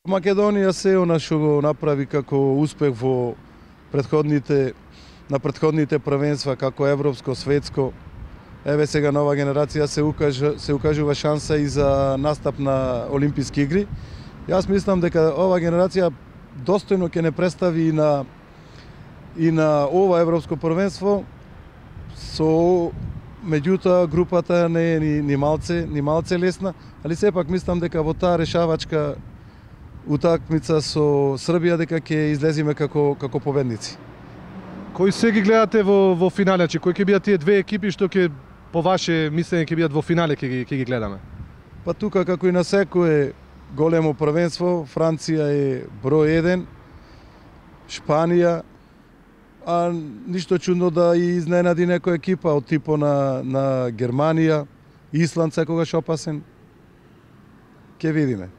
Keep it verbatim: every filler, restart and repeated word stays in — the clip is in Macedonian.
Македонија се она што го направи како успех во претходните на претходните првенства како европско, светско. Еве сега нова генерација се укажа се укажува шанса и за настап на Олимписки игри. Јас мислам дека ова генерација достојно ќе не представи и на и на ова европско првенство. Со меѓутоа групата не е ни, ни малце, ни малце лесна, али сепак мислам дека во таа решавачка утакмица со Србија дека ќе излеземе како како победници. Кои се ги гледате во во финале? Че кои ќе бидат тие две екипи што ќе по ваше мислење ќе бидат во финале ќе ги ќе ги гледаме? Па тука како и на секое големо првенство, Франција е број еден, Шпанија, а ништо чудно да и изненади некоја екипа од типо на на Германија, Исланд секогаш опасен. Ќе видиме.